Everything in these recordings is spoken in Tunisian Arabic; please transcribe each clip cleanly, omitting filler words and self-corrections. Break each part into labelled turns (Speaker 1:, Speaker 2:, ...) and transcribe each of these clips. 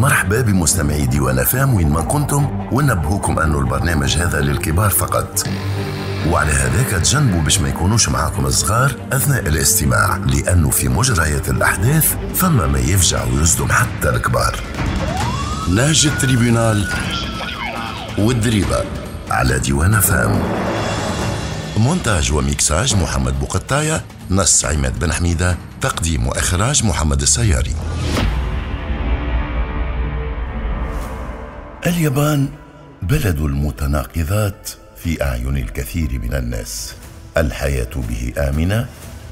Speaker 1: مرحبا بمستمعي ديوان FM وين ما كنتم، ونبهوكم أنه البرنامج هذا للكبار فقط، وعلى هذاك تجنبوا باش ما يكونوش معاكم الصغار أثناء الاستماع، لأنه في مجريات الأحداث فما ما يفجع ويصدم حتى الكبار. نهج ال tribunal والدريبة على ديوان FM. مونتاج وميكساج محمد بوقطاية، نص عماد بن حميدة، تقديم وإخراج محمد السياري. اليابان بلد المتناقضات في أعين الكثير من الناس. الحياة به آمنة،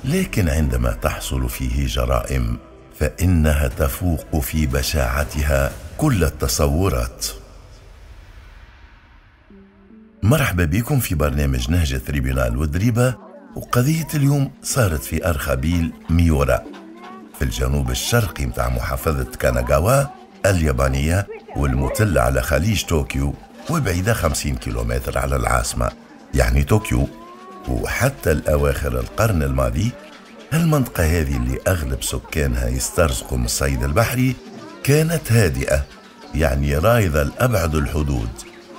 Speaker 1: لكن عندما تحصل فيه جرائم فإنها تفوق في بشاعتها كل التصورات. مرحبا بكم في برنامج نهج tribunal والدريبة، وقضية اليوم صارت في أرخبيل ميورا في الجنوب الشرقي متاع محافظة كاناغاوا اليابانية، والمطلة على خليج طوكيو، وبعيدة 50 كيلومتر على العاصمة يعني طوكيو. وحتى الأواخر القرن الماضي المنطقة هذه اللي أغلب سكانها يسترزقوا من الصيد البحري كانت هادئة، يعني رايضة لأبعد الحدود،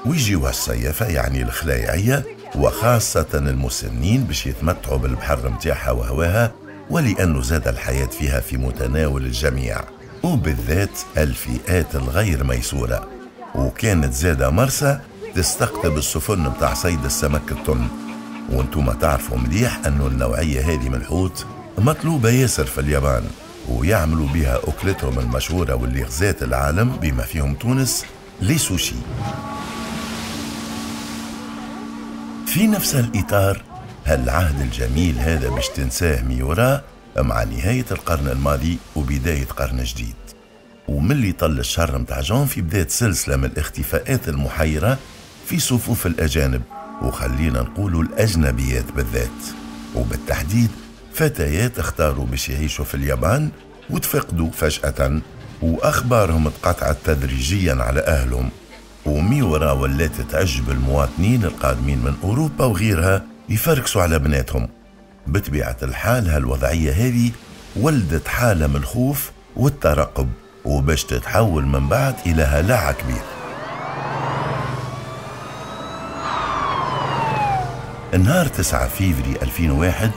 Speaker 1: ويجيوها الصيافة يعني الخلايعية وخاصة المسنين باش يتمتعوا بالبحر متاعها وهواها، ولأنه زاد الحياة فيها في متناول الجميع وبالذات الفئات الغير ميسورة. وكانت زادة مرسى تستقطب السفن متاع صيد السمك الطن، وانتم تعرفوا مليح أنه النوعية هذه من الحوت مطلوبة ياسر في اليابان، ويعملوا بها أكلتهم المشهورة واللي غزات العالم بما فيهم تونس، les sushis. في نفس الإطار هالعهد الجميل هذا باش تنساه ميورا مع نهاية القرن الماضي وبداية قرن جديد. وملي طل الشهر متاع جانفي بدات سلسلة من الاختفاءات المحيرة في صفوف الأجانب، وخلينا نقولوا الأجنبيات بالذات، وبالتحديد فتيات اختاروا باش يعيشوا في اليابان وتفقدوا فجأة، وأخبارهم اتقطعت تدريجيا على أهلهم. وميورا ولات تعجب المواطنين القادمين من أوروبا وغيرها يفركسوا على بناتهم. بطبيعة الحال هالوضعية هذه ولدت حالة من الخوف والترقب، وباش تتحول من بعد إلى هلع كبير. النهار 9 فيفري 2001،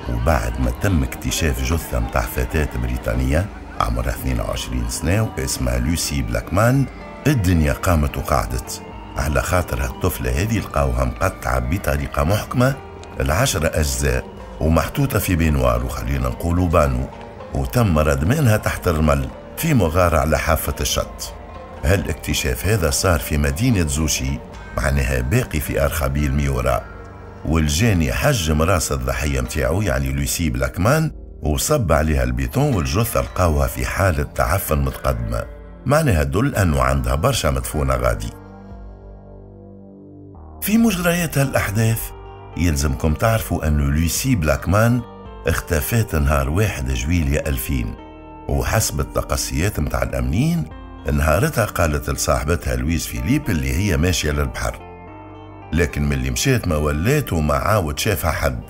Speaker 1: وبعد ما تم اكتشاف جثة متاع فتاة بريطانية عمرها 22 سنة واسمها لوسي بلاكمان، الدنيا قامت وقعدت على خاطر هالطفلة هذه لقاوها مقطعة بطريقة محكمة ل10 أجزاء ومحطوطة في peignoir، وخلينا نقولوا بانو، وتم ردمانها تحت الرمل في مغارة على حافة الشط. هالاكتشاف هذا صار في مدينة زوشي، معناها باقي في أرخبيل ميورا، والجاني حجم راس الضحية متاعو يعني لوسي بلاكمان وصب عليها البيتون، والجثة لقاوها في حالة تعفن متقدمة، معناها تدل أنه عندها برشا مدفونة غادي. في مجريات هالأحداث يلزمكم تعرفوا أنه لوسي بلاكمان اختفت نهار 1 جويلية 2000، وحسب التقصيات متاع الأمنيين نهارتها قالت لصاحبتها لويز فيليب اللي هي ماشية للبحر، لكن من اللي مشات ما ولات وما عاود شافها حد.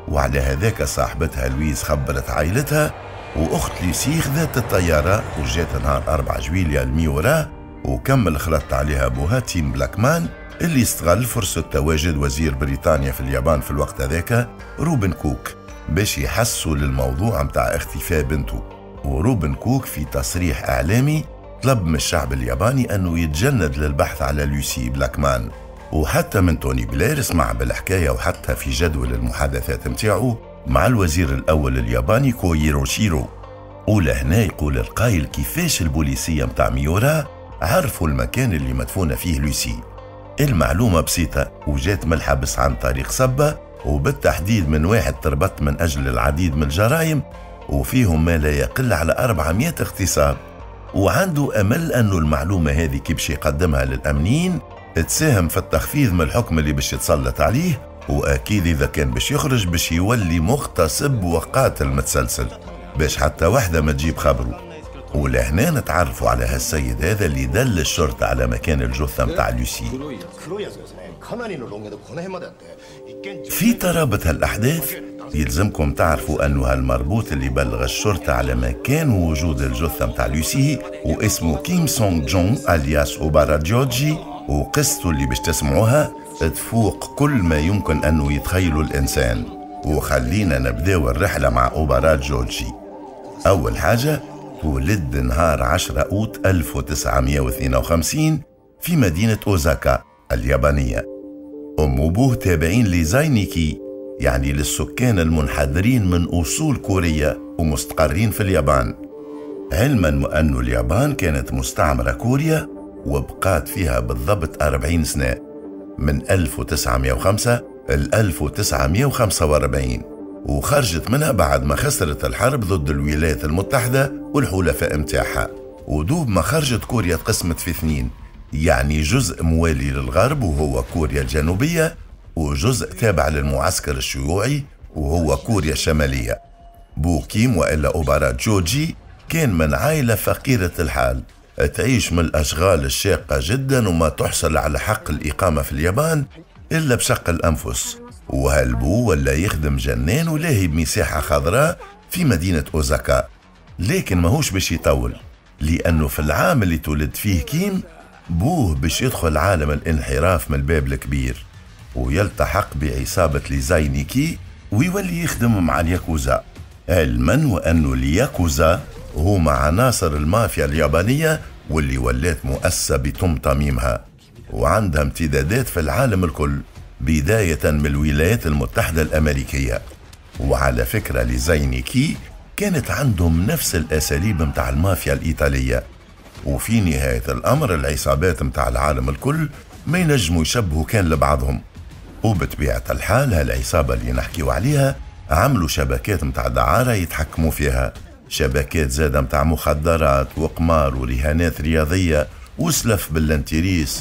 Speaker 1: وعلى هذاك صاحبتها لويز خبرت عائلتها، وأخت لوسي خذت الطيارة وجات نهار 4 جويلية لميورا، وكمل خلطت عليها أبوها تيم بلاكمان اللي استغل فرصة تواجد وزير بريطانيا في اليابان في الوقت هذاك روبن كوك باش يحسوا للموضوع متاع اختفاء بنته. وروبن كوك في تصريح إعلامي طلب من الشعب الياباني أنه يتجند للبحث على لوسي بلاكمان، وحتى من توني بلير سمع بالحكاية، وحتى في جدول المحادثات متاعه مع الوزير الأول الياباني كويرو شيرو. ولهنا يقول القايل كيفاش البوليسية متاع ميورا عرفوا المكان اللي مدفونة فيه لوسي. المعلومة بسيطة وجات من الحبس عن طريق سبة، وبالتحديد من واحد تربط من أجل العديد من الجرائم وفيهم ما لا يقل على 400 اغتصاب، وعنده أمل أنه المعلومة هذه كي باش يقدمها للأمنيين تساهم في التخفيض من الحكم اللي باش يتسلط عليه، وأكيد إذا كان باش يخرج باش يولي مغتصب وقاتل متسلسل باش حتى واحدة ما تجيب خبره. ولهنا نتعرفوا على هالسيد هذا اللي دل الشرطة على مكان الجثة متاع لوسي. في ترابط هالأحداث يلزمكم تعرفوا أنه هالمربوط اللي بلغ الشرطة على مكان وجود الجثة متاع لوسي واسمه كيم سونغ جون alias أوبارا جوجي، وقصته اللي باش تسمعوها تفوق كل ما يمكن أنه يتخيله الإنسان. وخلينا نبداو الرحلة مع أوبارا جوجي. أول حاجة، ولد نهار 10 أوت 1952 في مدينة أوزاكا اليابانية. أم وبوه تابعين لزاينيكي، يعني للسكان المنحدرين من أصول كورية ومستقرين في اليابان، علما أن اليابان كانت مستعمرة كوريا وبقات فيها بالضبط 40 سنة من 1905 ل 1945، وخرجت منها بعد ما خسرت الحرب ضد الولايات المتحدة والحلفاء متاعها. ودوب ما خرجت كوريا تقسمت في اثنين، يعني جزء موالي للغرب وهو كوريا الجنوبية، وجزء تابع للمعسكر الشيوعي وهو كوريا الشمالية. بو كيم وإلا أوبارا جوجي كان من عائلة فقيرة الحال، تعيش من الأشغال الشاقة جدا وما تحصل على حق الإقامة في اليابان إلا بشق الأنفس. وهالبو ولا يخدم جنان ولاهي بمساحة خضراء في مدينة أوزاكا، لكن ماهوش باش يطول، لأنه في العام اللي تولد فيه كيم بوه باش يدخل عالم الانحراف من الباب الكبير ويلتحق بعصابة لزاينيكي ويولي يخدم مع الياكوزا، علما وأنه الياكوزا هما عناصر المافيا اليابانية واللي ولات مؤسسة بتم تميمها وعندها امتدادات في العالم الكل، بداية من الولايات المتحدة الأمريكية. وعلى فكرة لزاينيكي كانت عندهم نفس الأساليب متاع المافيا الإيطالية، وفي نهاية الأمر العصابات متاع العالم الكل ما ينجموا يشبهوا كان لبعضهم. وبطبيعة الحال هالعصابة اللي نحكيو عليها عملوا شبكات متاع دعارة يتحكموا فيها، شبكات زادة متاع مخدرات وقمار ورهانات رياضية وسلف بال intérêts،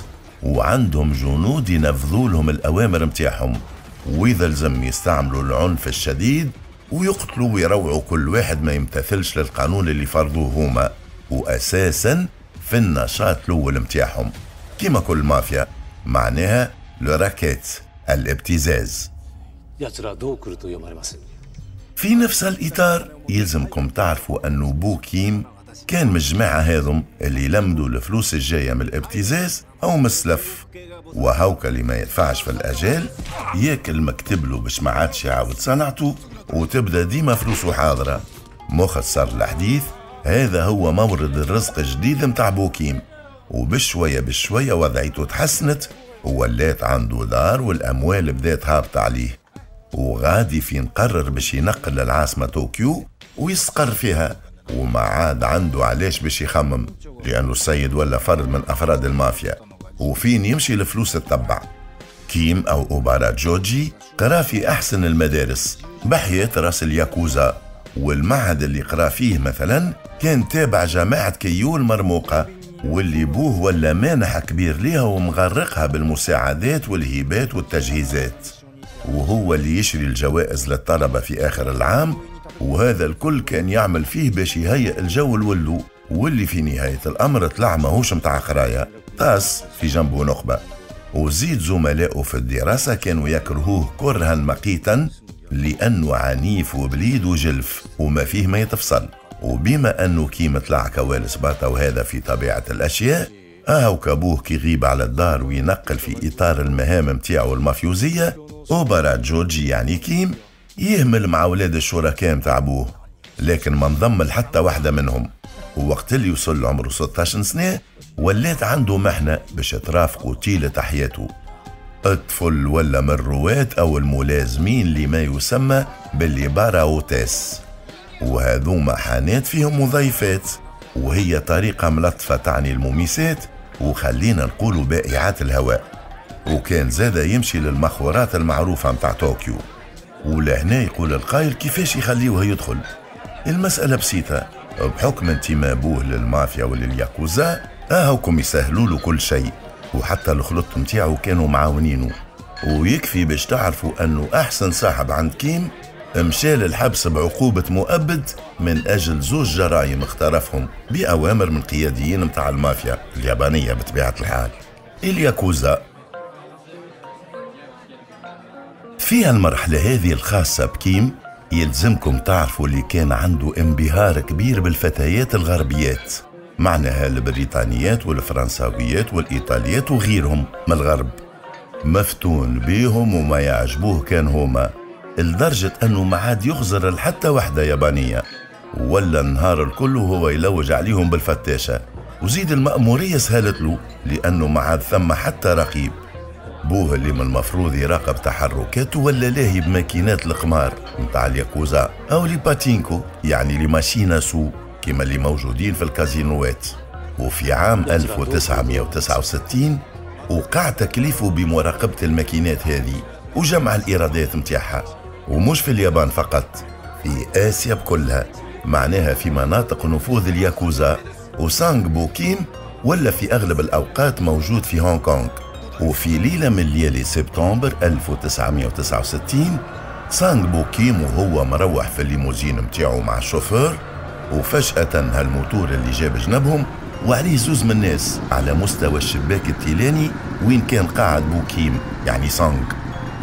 Speaker 1: وعندهم جنود ينفذوا لهم الأوامر متاعهم، وإذا لزم يستعملوا العنف الشديد ويقتلوا ويروعوا كل واحد ما يمتثلش للقانون اللي فرضوه هما، وأساسا في النشاط الأول متاعهم كما كل مافيا، معناها le racket الابتزاز. في نفس الإطار يلزمكم تعرفوا أنه بو كيم كان من الجماعة هذم اللي لمدوا الفلوس الجاية من الابتزاز أو من السلف، وهوكا اللي ما يدفعش في الأجال ياكل مكتب له باش ما عادش يعاود صنعته وتبدا ديما فلوسه حاضرة. مختصر الحديث، هذا هو مورد الرزق الجديد متاع بوكيم، وبشوية بشوية وضعيته تحسنت وولات عنده دار والأموال بدات هابطة عليه، وغادي فين قرر باش ينقل للعاصمة طوكيو ويستقر فيها، وما عاد عنده علاش باش يخمم لأنه السيد ولا فرد من أفراد المافيا وفين يمشي الفلوس تتبع. كيم أو أوبارا جوجي قرا في أحسن المدارس بحياة راس الياكوزا، والمعهد اللي قرا فيه مثلا كان تابع جماعة كيو المرموقة واللي بوه ولا مانح كبير ليها ومغرقها بالمساعدات والهبات والتجهيزات، وهو اللي يشري الجوائز للطلبة في آخر العام، وهذا الكل كان يعمل فيه باش يهيئ الجو الولو، واللي في نهاية الأمر طلع ماهوش متاع قراية، طاس في جنبه نخبة. وزيد زملائه في الدراسة كانوا يكرهوه كرها مقيتا لأنه عنيف وبليد وجلف وما فيه ما يتفصل. وبما أنه كيم طلع كوالس باطا وهذا في طبيعة الأشياء، أهو كابوه كي يغيب على الدار وينقل في إطار المهام متاعه المافيوزية، أوبارا جوجي يعني كيم يهمل مع أولاد الشركاء متاع أبوه، لكن ما انضم لحتى واحدة منهم. ووقت اللي وصل عمره 16 سنة ولات عنده محنة باش ترافقه طيلة حياته. الطفل ولا من الرواة أو الملازمين لما يسمى باللي باراوتاس، وهذوما حانات فيهم مضيفات، وهي طريقة ملطفة تعني المميسات وخلينا نقولوا بائعات الهواء. وكان زاد يمشي للمخورات المعروفة متاع طوكيو. ولهنا يقول القائل كيفاش يخليوه يدخل؟ المسألة بسيطة، بحكم انتماء بوه للمافيا وللياكوزا اهوكم يسهلوا له كل شيء، وحتى الخلط متاعه كانوا معاونينه. ويكفي باش تعرفوا انه احسن صاحب عند كيم مشى للحبس بعقوبة مؤبد من أجل زوج جرائم اقترفهم بأوامر من قياديين متاع المافيا اليابانية بطبيعة الحال، الياكوزا. في المرحلة هذه الخاصة بكيم يلزمكم تعرفوا اللي كان عنده انبهار كبير بالفتيات الغربيات، معناها البريطانيات والفرنساويات والإيطاليات وغيرهم من الغرب، مفتون بيهم وما يعجبوه كان هما، لدرجة أنه ما عاد يخزر لحتى وحدة يابانية، ولا النهار الكل وهو يلوج عليهم بالفتاشة. وزيد المأمورية سهلت له لأنه ما عاد ثم حتى رقيب. بوه اللي من المفروض يراقب تحركاته ولا لاهي بماكينات القمار متاع الياكوزا أو les pachinko، يعني les machines à sous كما اللي موجودين في الكازينوات. وفي عام 1969 وقع تكليفه بمراقبة الماكينات هذه وجمع الإيرادات متاعها، ومش في اليابان فقط، في آسيا بكلها، معناها في مناطق نفوذ الياكوزا. وسانغ بو كيم ولا في أغلب الأوقات موجود في هونغ كونغ. وفي ليلة من ليالي سبتمبر 1969 سانغ بو كيم وهو مروح في الليموزين متاعه مع الشوفور، وفجأة هالموتور اللي جاب جنبهم وعليه زوز من الناس على مستوى الشباك التيلاني وين كان قاعد بو كيم يعني سانغ.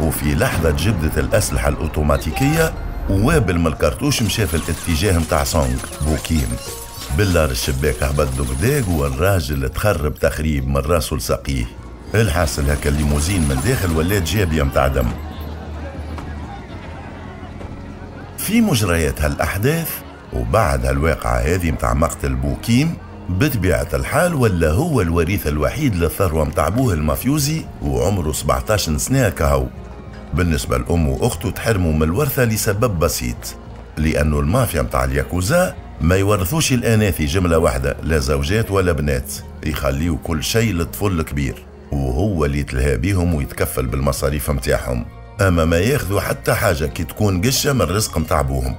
Speaker 1: وفي لحظة جبدت الأسلحة الأوتوماتيكية ووابل من الكرتوش مشى في الاتجاه متاع سانغ بو كيم. بالله الشباك هبط دقداق والراجل تخرب تخريب من راسه لساقيه. الحاصل هكا الليموزين من داخل ولات جابية متاع دم. في مجريات هالأحداث وبعد هالواقعة هذه متاع مقتل بوكيم، بطبيعة الحال ولا هو الوريث الوحيد للثروة متاع بوه المافيوزي وعمره 17 سنة كهو. بالنسبة لأمه وأخته تحرموا من الورثة لسبب بسيط، لأنه المافيا متاع الياكوزا ما يورثوش الأناثي جملة واحدة، لا زوجات ولا بنات، يخليوا كل شيء للطفل الكبير وهو اللي يتلهى بيهم ويتكفل بالمصاريف متاعهم، أما ما ياخذوا حتى حاجة كي تكون قشة من الرزق متاع بوهم.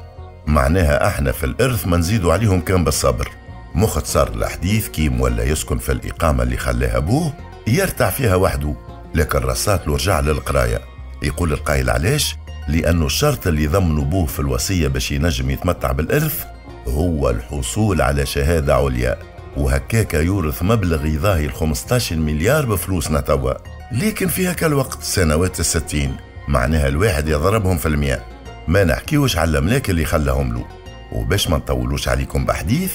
Speaker 1: معناها احنا في الإرث ما نزيدوا عليهم كان بالصبر. مختصر الحديث، كيم ولا يسكن في الإقامة اللي خلاها بوه يرتع فيها وحده، لكن رصات له رجع للقراية. يقول القائل علاش؟ لأنه الشرط اللي ضمنه بوه في الوصية باش ينجم يتمتع بالإرث هو الحصول على شهادة عليا، وهكاك يورث مبلغ يضاهي 15 مليار بفلوسنا توا. لكن في هكا الوقت سنوات 60 معناها الواحد يضربهم في المئة، ما نحكيوش على الأملاك اللي خلاهم له. وباش ما نطولوش عليكم بحديث،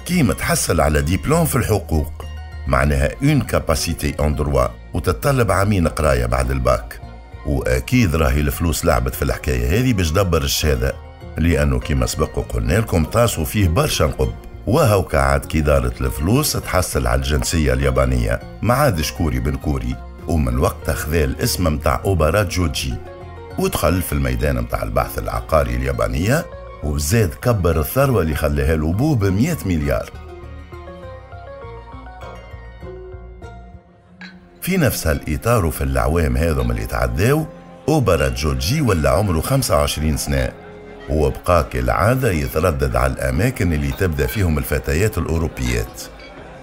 Speaker 1: كيما تحصل على ديبلوم في الحقوق، معناها une capacité en droit، وتتطلب عامين قرايه بعد الباك. واكيد راهي الفلوس لعبت في الحكايه هذه باش دبر الشهاده، لانه كما سبق وقلنا لكم طاسوا فيه برشا نقب. وهوكا عاد كي دارت الفلوس تحصل على الجنسيه اليابانيه، ما عادش كوري بن كوري، ومن وقتها خذا الاسم متاع أوبارا جوجي، ودخل في الميدان متاع البحث العقاري اليابانيه، وزاد كبر الثروة اللي خلاها له بوه ب100 مليار. في نفس هالإطار وفي الأعوام هذم اللي تعداو، أوبارا جوجي ولا عمره 25 سنة، وبقى كالعادة يتردد على الأماكن اللي تبدأ فيهم الفتيات الأوروبيات.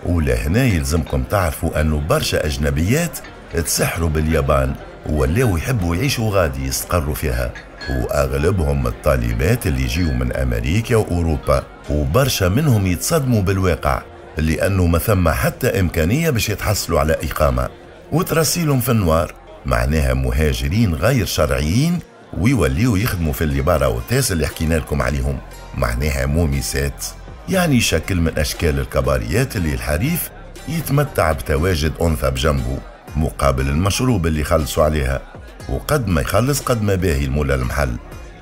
Speaker 1: ولهنا يلزمكم تعرفوا أنه برشا أجنبيات تسحروا باليابان ولاو يحبوا يعيشوا غادي يستقروا فيها، وأغلبهم الطالبات اللي يجيوا من أمريكا وأوروبا، وبرشا منهم يتصدموا بالواقع لأنه ما ثم حتى إمكانية باش يتحصلوا على إقامة وترسيلهم في النوار، معناها مهاجرين غير شرعيين ويوليوا يخدموا في les bars à hôtesses اللي حكينا لكم عليهم، معناها مومسات، يعني شكل من أشكال الكباريات اللي الحريف يتمتع بتواجد أنثى بجنبه مقابل المشروب اللي خلصوا عليها، وقد ما يخلص قد ما باهي المولى المحل.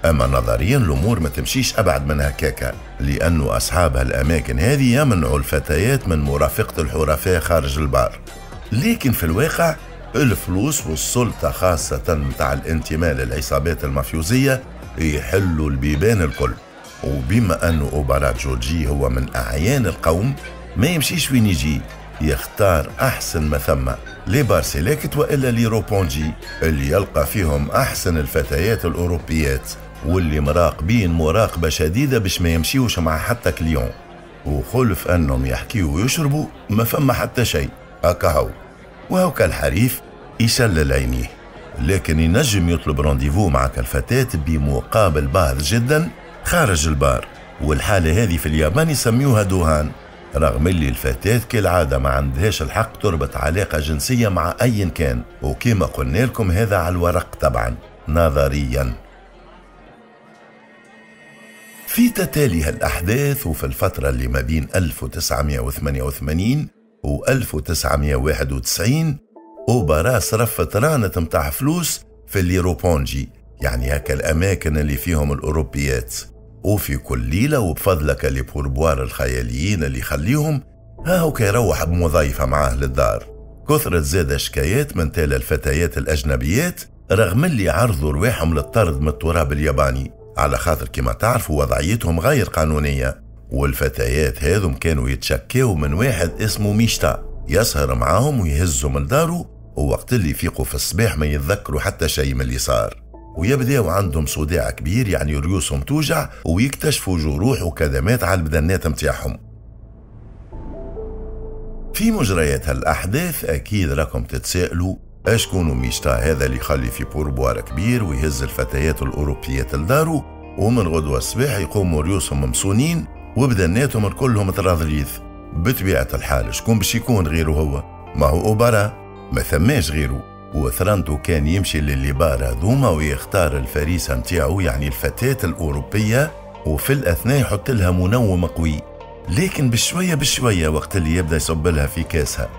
Speaker 1: أما نظريا الأمور ما تمشيش أبعد من هكاكا، لأنه أصحاب هالأماكن هذه يمنعوا الفتيات من مرافقة الحرفاء خارج البار. لكن في الواقع الفلوس والسلطة خاصة متاع الانتماء للعصابات المافيوزية يحلوا البيبان الكل. وبما أنه أوبارا جوجي هو من أعيان القوم، ما يمشيش وين يجي، يختار أحسن ما ثم، les bars Select وإلا les روبونجي اللي يلقى فيهم أحسن الفتيات الأوروبيات واللي مراقبين مراقبة شديدة باش ما يمشيوش مع حتى client. وخلف أنهم يحكيوا ويشربوا ما فما حتى شيء أكاهو. وهوكا الحريف يشلل عينيه، لكن ينجم يطلب rendez-vous معك الفتاة بمقابل باهظ جدا خارج البار، والحالة هذه في اليابان يسميوها دوهان، رغم اللي الفتاة كالعادة ما عندهاش الحق تربط علاقة جنسية مع أي كان، وكما قلنا لكم هذا على الورق طبعا، نظريا. في تتالي هالأحداث وفي الفترة اللي ما بين 1988 و 1991 أوبارا صرف ترانة متاع فلوس في اللي روبونجي، يعني هكا الأماكن اللي فيهم الأوروبيات، وفي كل ليلة وبفضلك les pourboires الخياليين اللي يخليهم ها هو كيروح بمضيفة معاه للدار. كثرت زاد شكايات من تال الفتيات الأجنبيات رغم اللي عرضوا رواحهم للطرد من التراب الياباني، على خاطر كما تعرفوا وضعيتهم غير قانونية. والفتيات هذم كانوا يتشكاو من واحد اسمه ميشتا يسهر معاهم ويهزهم لدارو، ووقت اللي يفيقوا في الصباح ما يتذكروا حتى شيء من اللي صار، ويبداو عندهم صداع كبير، يعني ريوسهم توجع، ويكتشفوا جروح وكدمات على البدنات متاعهم. في مجريات هالأحداث أكيد راكم تتساءلوا أشكون ميشتا هذا اللي يخلي في pourboire كبير ويهز الفتيات الأوروبيات لدارو، ومن غدوة الصباح يقوموا ريوسهم ممسونين وبدناتهم كلهم تراضريث. بطبيعة الحال شكون باش يكون غيره هو؟ ما هو أوبارا، ما ثماش غيره. وثرانتو كان يمشي لل les bars هذوما ويختار الفريسة متاعو، يعني الفتاة الأوروبية، وفي الأثناء يحط لها منوم قوي، لكن بشوية بشوية وقت اللي يبدأ يصب لها في كاسها.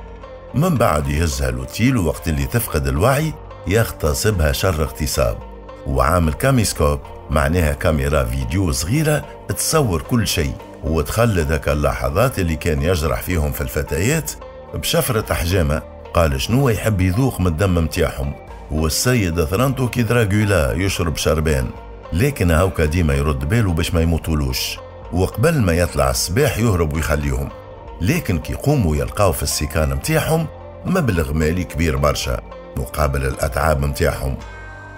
Speaker 1: من بعد يهزها l'hôtel، ووقت اللي تفقد الوعي يغتصبها شر اغتصاب. وعامل caméscope، معناها كاميرا فيديو صغيرة تصور كل شيء، وتخلد هكا اللحظات اللي كان يجرح فيهم في الفتيات بشفرة حجامة. قال شنو يحب يذوق من الدم متاعهم. والسيد ثرانتو كي دراغولا يشرب شربان، لكن هاوكا ديما يرد باله باش ما يموتولوش، وقبل ما يطلع الصباح يهرب ويخليهم. لكن كي يقوموا يلقاو في السكان متاعهم مبلغ مالي كبير برشا مقابل الأتعاب متاعهم.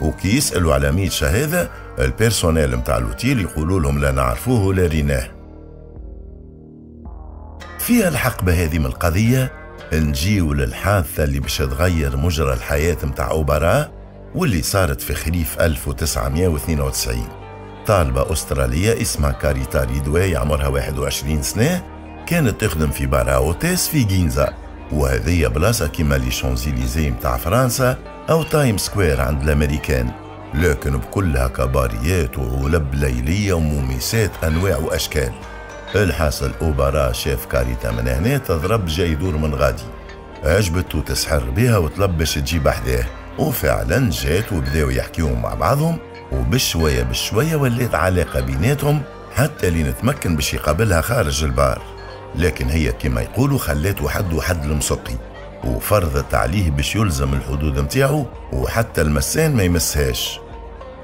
Speaker 1: وكي يسألوا على ميتشا هذا ال personnel متاع l'hôtel يقولوا لهم لا نعرفوه ولا ريناه. فيها الحقبة هذه من القضية نجيو للحادثة اللي باش تغير مجرى الحياة متاع أوبارا، واللي صارت في خريف 1992. طالبة أسترالية اسمها كاريتا ريدواي عمرها 21 سنة كانت تخدم في bar à hôtesses في جينزا، وهذه بلاصة كيما les Champs-Élysées متاع فرنسا أو تايم سكوير عند الأمريكان، لكن بكلها كباريات وعلب ليلية ومومسات أنواع وأشكال. الحاصل أوبارا شاف كاريتا من هنا تضرب جاي يدور من غادي، عجبته تسحر بها وطلب باش تجيب أحداه، وفعلا جات وبداو يحكيو مع بعضهم، وبشوية بشوية ولات علاقة بيناتهم حتى لين تمكن باش يقابلها خارج البار. لكن هي كما يقولوا خلاته حد وحد المسقي، وفرضت عليه باش يلزم الحدود متاعه وحتى المسان ما يمسهاش.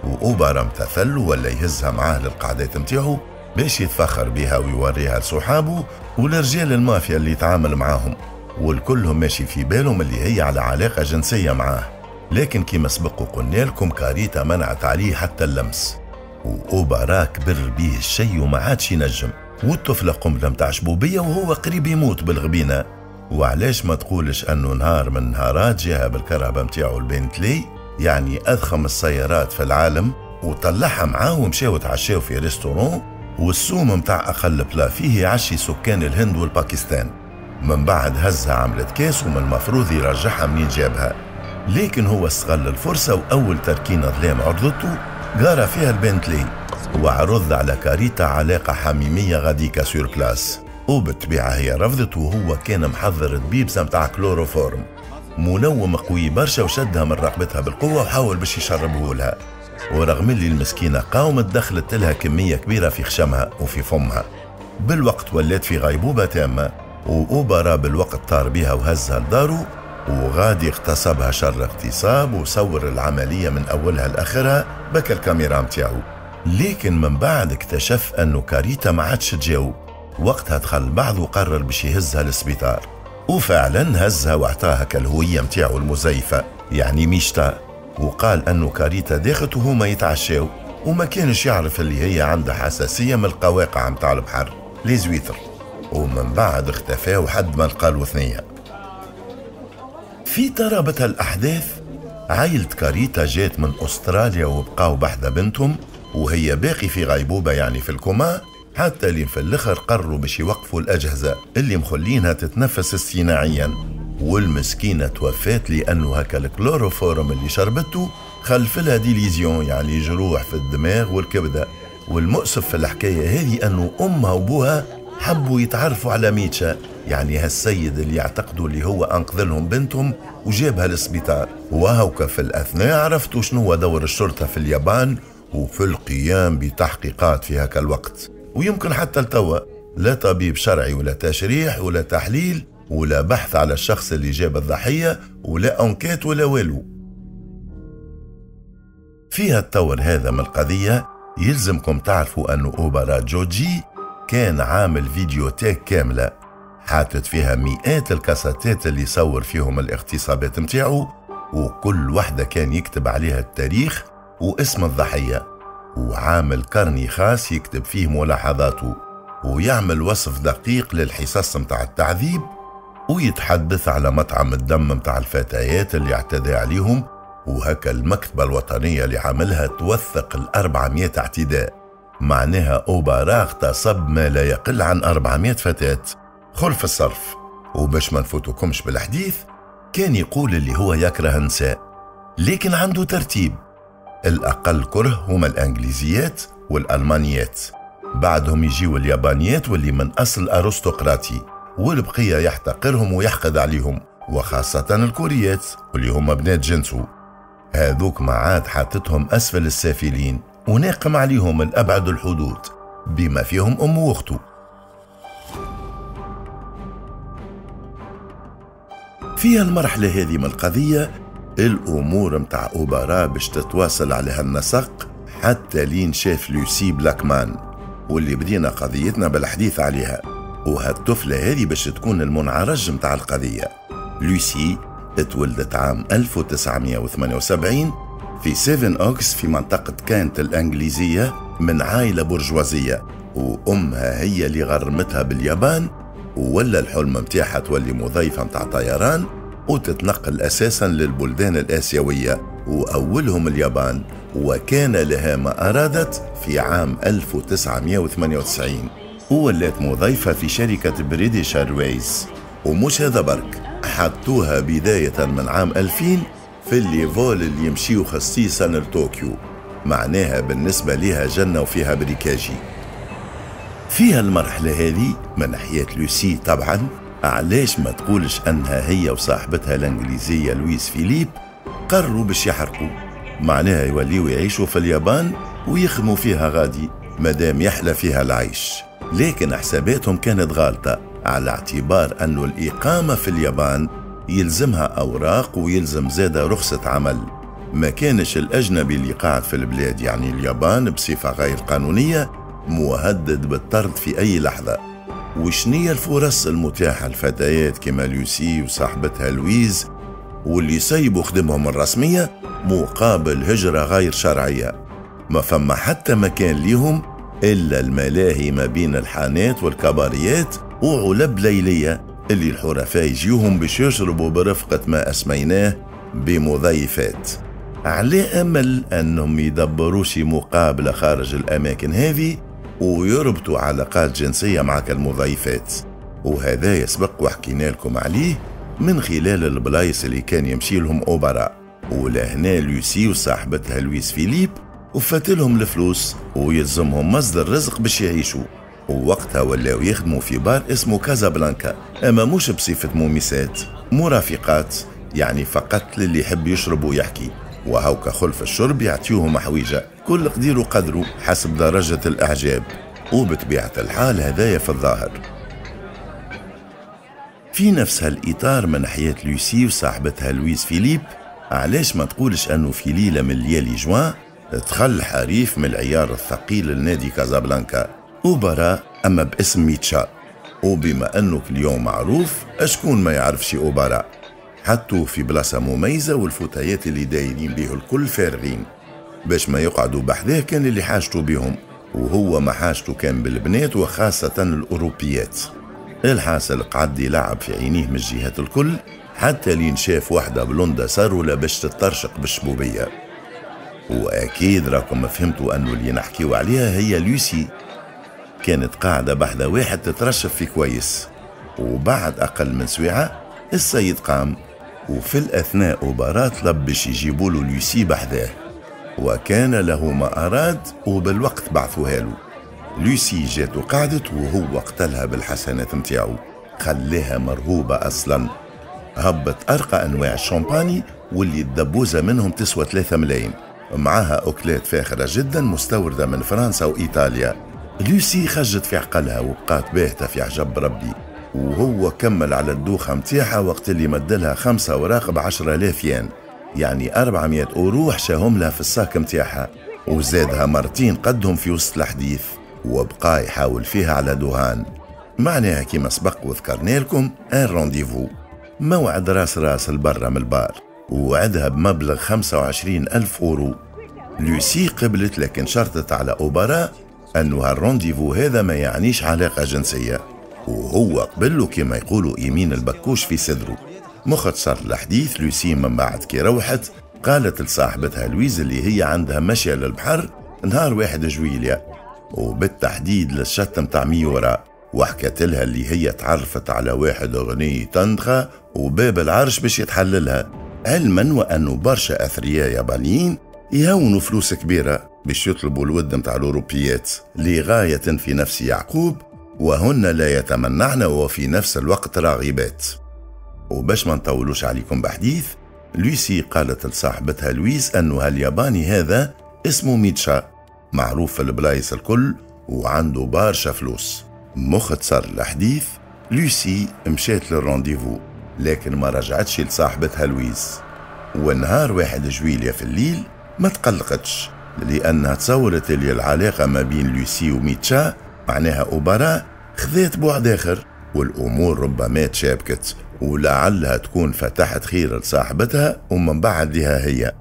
Speaker 1: وأوبارا امتثل ولا يهزها معاه للقعدات متاعه باش يتفخر بها ويوريها لصحابه ولرجال المافيا اللي يتعامل معاهم، والكلهم ماشي في بالهم اللي هي على علاقة جنسية معاه. لكن كما سبق وقلنا لكم كاريتا منعت عليه حتى اللمس، وأوبارا كبر بيه الشيء وما عادش ينجم، والطفلة قنبلة متاع شبوبية وهو قريب يموت بالغبينة. وعلاش ما تقولش أنه نهار من نهارات جاها بالكرهبة متاعو البنتلي، يعني أضخم السيارات في العالم، وطلعها معاه ومشاو تعشاو في restaurant، والسوم متاع أقل plat فيه يعشي سكان الهند والباكستان. من بعد هزها عملت كاس ومن المفروض يرجعها منين جابها، لكن هو استغل الفرصة وأول تركينة ظلام عرضته قارى فيها البنتلي وعرض على كاريتا علاقة حميمية غاديكا sur place. وبالطبيعة هي رفضت، وهو كان محضر دبيبسة متاع كلوروفورم منوم قوي برشا، وشدها من رقبتها بالقوة وحاول باش يشربه لها. ورغم اللي المسكينة قاومت دخلت لها كمية كبيرة في خشمها وفي فمها. بالوقت ولات في غيبوبة تامة، وأوبارا بالوقت طار بها وهزها لدارو، وغادي اغتصبها شر اغتصاب وصور العملية من أولها لآخرها بك الكاميرا متاعو. لكن من بعد اكتشف أنه كاريتا ما عادش تجاوب، وقتها دخل بعض وقرر باش يهزها للسبيطار، وفعلا هزها واعطاها كالهوية متاعو المزيفة يعني ميشتا، وقال أنه كاريتا داخت وهما يتعشاو، وما كانش يعرف اللي هي عندها حساسية من القواقع متاع البحر les huîtres. ومن بعد اختفاو حد ما لقالو ثنية. في ترابط الأحداث عائلة كاريتا جات من أستراليا وبقاو بحذا بنتهم وهي باقي في غيبوبة يعني في الكوما، حتى اللي في الآخر قرروا باش يوقفوا الأجهزة اللي مخلينها تتنفس اصطناعيا، والمسكينة توفات لأنه هكا الكلوروفورم اللي شربته خلف لها des lésions، يعني جروح في الدماغ والكبدة. والمؤسف في الحكاية هذه أنه أمها وبوها حبوا يتعرفوا على ميتشا، يعني هالسيد اللي يعتقدوا اللي هو أنقذ لهم بنتهم وجابها للسبيطار. وهوك في الأثناء عرفتوا شنو هو دور الشرطة في اليابان وفي القيام بتحقيقات في هكا الوقت، ويمكن حتى لتوا لا طبيب شرعي ولا تشريح ولا تحليل ولا بحث على الشخص اللي جاب الضحية ولا enquête ولا والو. فيها التطور هذا من القضية يلزمكم تعرفوا أنه أوبارا جوجي كان عامل vidéothèque كاملة حاطت فيها مئات الكاساتات اللي صور فيهم الاغتصابات متاعه، وكل وحدة كان يكتب عليها التاريخ واسم الضحية، وعامل carnet خاص يكتب فيه ملاحظاته ويعمل وصف دقيق للحصص متاع التعذيب، ويتحدث على مطعم الدم متاع الفتيات اللي اعتدى عليهم. وهكا المكتبة الوطنية اللي عاملها توثق 400 اعتداء، معناها أوبارا اغتصب ما لا يقل عن 400 فتاة خلف الصرف. وباش ما نفوتكمش بالحديث، كان يقول اللي هو يكره النساء، لكن عنده ترتيب: الأقل كره هما الأنجليزيات والألمانيات، بعدهم يجيو اليابانيات واللي من أصل أرستقراطي، والبقية يحتقرهم ويحقد عليهم، وخاصة الكوريات واللي هما بنات جنسه. هذوك ما عاد حاطتهم أسفل السافلين وناقم عليهم الأبعد الحدود بما فيهم أمه وأخته. في المرحلة هذه من القضية الأمور متاع أوبارا باش تتواصل على هالنسق حتى لين شاف لوسي بلاكمان، واللي بدينا قضيتنا بالحديث عليها. وهالطفلة هذه باش تكون المنعرج متاع القضية. لوسي اتولدت عام 1978 في سيفن أوكس في منطقة كانت الأنجليزية من عائلة برجوازية، وأمها هي اللي غرمتها باليابان، ولا الحلم متاعها تولي مضيفة متاع طيران وتتنقل أساسا للبلدان الآسيوية وأولهم اليابان. وكان لها ما أرادت في عام 1998 وولات مضيفة في شركة British Airways. ومش هذا برك، حطوها بداية من عام 2000 في les vols اللي يمشيو خصيصا لطوكيو، معناها بالنسبة لها جنة وفيها بريكاجي. فيها المرحلة هذه من حياة لوسي طبعا، علاش ما تقولش أنها هي وصاحبتها الإنجليزية لويس فيليب قرروا باش يحرقوا، معناها يوليوا يعيشوا في اليابان ويخدموا فيها غادي مادام يحلى فيها العيش. لكن حساباتهم كانت غالطة، على اعتبار أنه الإقامة في اليابان يلزمها أوراق ويلزم زادة رخصة عمل. ما كانش الأجنبي اللي قاعد في البلاد يعني اليابان بصفة غير قانونية مهدد بالطرد في أي لحظة. وشنية الفرص المتاحة للفتيات كما لوسي وصاحبتها لويز واللي سيبوا خدمهم الرسمية مقابل هجرة غير شرعية؟ ما فما حتى مكان ليهم إلا الملاهي ما بين الحانات والكباريات وعلب ليلية اللي الحرفاء يجيوهم باش يشربوا برفقة ما أسميناه بمضيفات، على أمل أنهم يدبروا شي مقابلة خارج الأماكن هذه ويربطوا علاقات جنسية مع المضيفات. وهذا يسبق وحكينا لكم عليه من خلال البلايص اللي كان يمشي لهم أوبارا. ولهنا لوسي وصاحبتها لويس فيليب وفات لهم الفلوس ويلزمهم مصدر رزق باش يعيشوا، ووقتها ولاو يخدموا في بار اسمه كازابلانكا، اما مش بصفة مومسات، مرافقات، يعني فقط للي يحب يشرب ويحكي. وهوكا خلف الشرب يعطيوهم حويجة كل قدير وقدره حسب درجة الإعجاب، وبطبيعة الحال هذايا في الظاهر. في نفس هالإطار من حياة لوسي وصاحبتها لويس فيليب، علاش ما تقولش أنه في ليلة من ليالي جوان دخل حريف من العيار الثقيل لنادي كازابلانكا أوبارا، أما باسم ميتشا. وبما أنه اليوم معروف أشكون ما يعرفش أوبارا، حطوه في بلاصة مميزة والفتيات اللي دايرين به الكل فارغين باش ما يقعدوا بحذاه كان اللي حاجته بهم، وهو ما حاجته كان بالبنات وخاصة الأوروبيات. الحاصل قعد يلعب في عينيه من الجهات الكل حتى لين شاف واحدة بلوندا سارولة باش تطرشق بالشبوبية. وأكيد راكم فهمتوا أنه اللي نحكيو عليها هي لوسي، كانت قاعدة بحذا واحد تترشف في كويس. وبعد أقل من سويعة السيد قام وفي الأثناء أوبارا طلب باش يجيبوا له لوسي بحذاه، وكان له ما أراد وبالوقت بعثوها له. لوسي جات وقعدت وهو قتلها بالحسنات متاعو، خلاها مرهوبة أصلا. هبط أرقى أنواع الشامباني واللي الدبوزة منهم تسوى 3 ملايين، معاها أكلات فاخرة جدا مستوردة من فرنسا وإيطاليا. لوسي خجت في عقلها وبقات باهتة في عجب ربي، وهو كمل على الدوخة متاعها وقت اللي مدلها 5 أوراق ب10,000 ين، يعني 400 أورو حشاهم لها في ال sac متاعها، وزادها مرتين قدهم في وسط الحديث، وبقى يحاول فيها على دهان. معناها كما سبق وذكرنا لكم un rendez-vous، موعد راس راس البرة من البار، ووعدها بمبلغ 25,000 أورو. لوسي قبلت، لكن شرطت على أوبارا أنه هال rendez-vous هذا ما يعنيش علاقة جنسية، وهو قبله كما يقولوا يمين البكوش في صدره. مختصر الحديث، لوسي من بعد كي روحت قالت لصاحبتها لويز اللي هي عندها مشية للبحر نهار 1 جويلية، وبالتحديد للشط متاع ميورا، وحكت لها اللي هي تعرفت على واحد غني تندخة وباب العرش باش يتحللها، علما وأنه برشا أثرياء يابانيين يهونوا فلوس كبيرة باش يطلبوا الود متاع الأوروبيات لغاية في نفس يعقوب، وهن لا يتمنعن وفي نفس الوقت راغبات. وباش ما نطولوش عليكم بحديث، لوسي قالت لصاحبتها لويز أنه هالياباني هذا اسمه ميتشا، معروف في البلايص الكل وعنده برشا فلوس. مختصر الحديث، لوسي مشات لل rendez-vous لكن ما رجعتش لصاحبتها لويز. ونهار 1 جويلية في الليل ما تقلقتش، لأنها تصورت اللي العلاقة ما بين لوسي وميتشا معناها أوبارا خذات بعد آخر، والأمور ربما تشابكت ولعلها تكون فتحت خير لصاحبتها ومن بعد لها هي.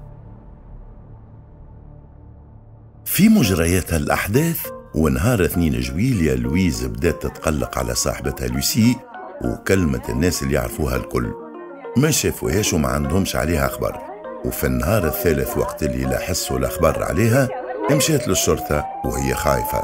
Speaker 1: في مجريات الأحداث ونهار 2 جويلية لويز بدأت تتقلق على صاحبتها لوسي وكلمة الناس اللي يعرفوها الكل، ما شافوهاش وما عندهمش عليها خبر. وفي النهار الثالث وقت اللي لا حسوا لا خبر عليها مشات للشرطة وهي خايفة،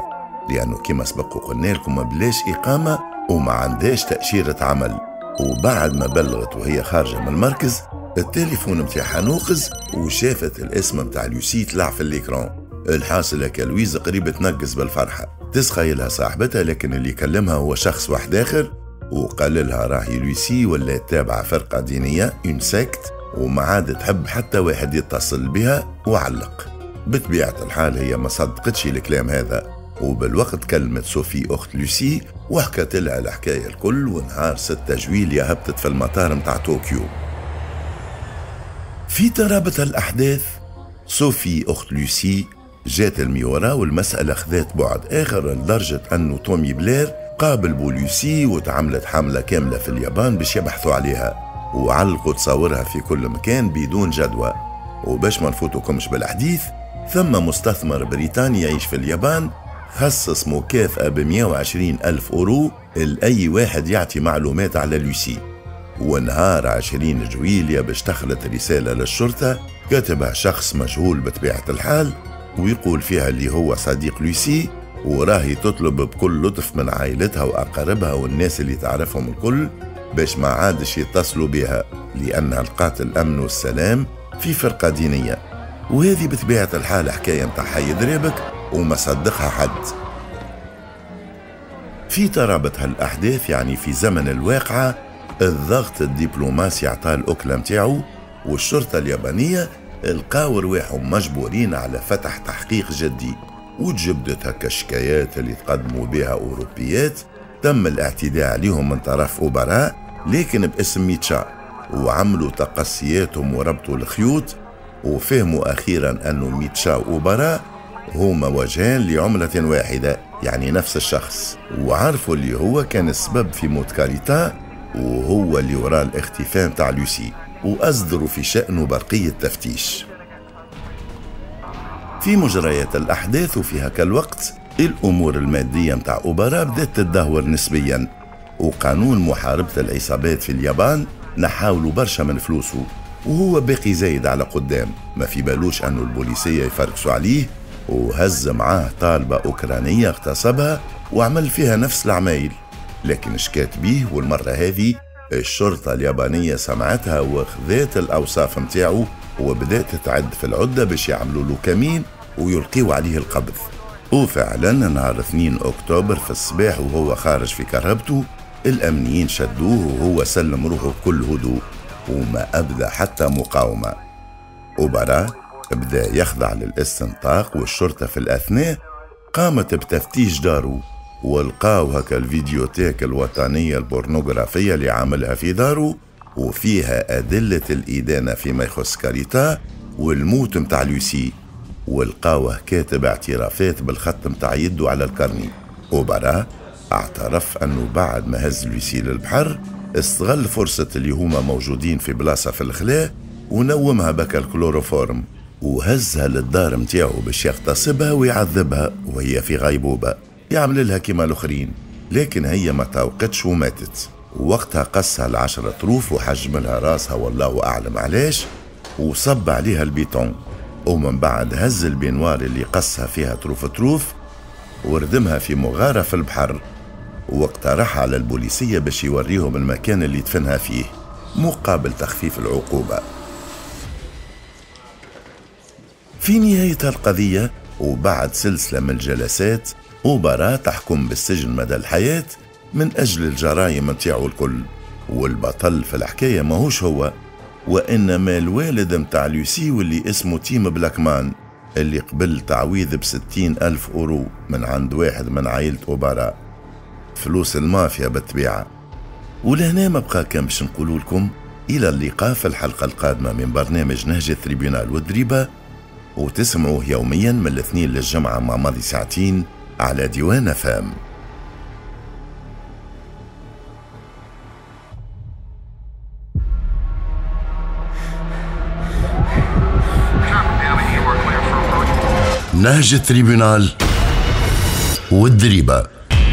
Speaker 1: لأنه كما سبق وقلنا لكم بلاش إقامة وما عندهاش تأشيرة عمل. وبعد ما بلغت وهي خارجة من المركز التليفون متاعها نوقز وشافت الاسم متاع لوسي طلع في ال écran. الحاصل هكا لويز قريب تنقز بالفرحة، تسخيلها صاحبتها، لكن اللي كلمها هو شخص واحد آخر وقال لها راهي لوسي ولا تابعة فرقة دينية une secte وما عاد تحب حتى واحد يتصل بها، وعلق. بطبيعة الحال هي ما صدقتش الكلام هذا، وبالوقت كلمت صوفي أخت لوسي وحكت لها الحكاية الكل. ونهار 6 جويلية هبطت في المطار متاع طوكيو. في ترابط الأحداث صوفي أخت لوسي جات الميورا والمسألة خذات بعد آخر، لدرجة أنه تومي بلير قابل بو لوسي وتعملت حملة كاملة في اليابان باش يبحثوا عليها، وعلقوا تصاورها في كل مكان بدون جدوى. وباش ما نفوتكمش بالحديث، ثم مستثمر بريطاني يعيش في اليابان خصص مكافأة ب120,000 أورو لأي واحد يعطي معلومات على لوسي. ونهار 20 جويلية باش دخلت رسالة للشرطة كتبها شخص مجهول بطبيعة الحال، ويقول فيها اللي هو صديق لوسي، وراهي تطلب بكل لطف من عائلتها وأقاربها والناس اللي تعرفهم الكل باش ما عادش يتصلوا بها، لأنها لقات الأمن والسلام في فرقة دينية. وهذه بطبيعة الحال حكاية متاع حي دريبك وما صدقها حد. في ترابط هالأحداث، يعني في زمن الواقعة، الضغط الدبلوماسي عطاه الأكلة متاعو، والشرطة اليابانية لقاو رواحهم مجبورين على فتح تحقيق جدي، وتجبدت هكا الشكايات اللي تقدموا بها أوروبيات تم الاعتداء عليهم من طرف أوبراء لكن باسم ميتشا، وعملوا تقصياتهم وربطوا الخيوط، وفهموا أخيرا أنه ميتشا وأوبراء هما وجهان لعملة واحدة، يعني نفس الشخص، وعرفوا اللي هو كان السبب في موت كاريتا وهو اللي وراء الاختفاء متاع لوسي، وأصدروا في شأنه برقية تفتيش. في مجريات الأحداث وفي هكا الوقت الأمور المادية متاع أوبرا بدأت تتدهور نسبيا، وقانون محاربة العصابات في اليابان نحاولوا برشا من فلوسه، وهو باقي زايد على قدام، ما في بالوش أنه البوليسية يفركسوا عليه، وهز معاه طالبة أوكرانية اغتصبها وعمل فيها نفس العمايل، لكن شكات بيه، والمرة هذه الشرطة اليابانية سمعتها وخذت الأوصاف متاعه وبدأت تعد في العدة باش يعملوا له كمين ويلقيوا عليه القبض. وفعلا نهار 2 أكتوبر في الصباح وهو خارج في كرهبته الأمنيين شدوه وهو سلم روحه بكل هدوء وما أبدى حتى مقاومة. أوبارا بدأ يخضع للاستنطاق، والشرطة في الأثناء قامت بتفتيش داره ولقاو هكا الفيديوتيك الوطنية البورنوغرافية اللي عاملها في داره وفيها أدلة الإدانة فيما يخص كاريتا والموت متاع لوسي، ولقاوه كاتب اعترافات بالخط متاع يده على ال carnet. أوبارا اعترف أنه بعد ما هز لوسي للبحر استغل فرصة اللي هما موجودين في بلاصة في الخلاء ونومها بك الكلوروفورم وهزها للدار متاعه باش يغتصبها ويعذبها وهي في غيبوبة، يعمل لها كما الآخرين، لكن هي ما توقتش وماتت. ووقتها قصها ل10 طروف وحجم لها راسها والله أعلم علاش، وصب عليها البيتون، ومن بعد هز ال peignoir اللي قصها فيها طروف طروف وردمها في مغارة في البحر، واقترح على البوليسية باش يوريهم المكان اللي دفنها فيه مقابل تخفيف العقوبة. في نهاية القضية وبعد سلسلة من الجلسات أوبارا تحكم بالسجن مدى الحياة من أجل الجرائم متاعو الكل، والبطل في الحكاية ماهوش هو وإنما الوالد متاع لوسي واللي اسمه تيم بلاكمان اللي قبل تعويض ب60,000 أورو من عند واحد من عائلة أوبارا، فلوس المافيا بالطبيعة. ولهنا ما بقى كان باش نقولوا لكم إلى اللقاء في الحلقة القادمة من برنامج نهج التريبيونال والدريبة، وتسمعوه يوميا من الاثنين للجمعة مع ماضي ساعتين على ديوان FM. نهج التريبيونال والدريبة،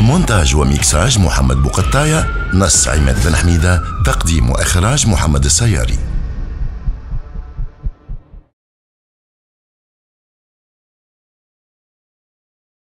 Speaker 1: مونتاج وميكساج محمد بوقطاية، نص عماد بن حميدة، تقديم وإخراج محمد السياري.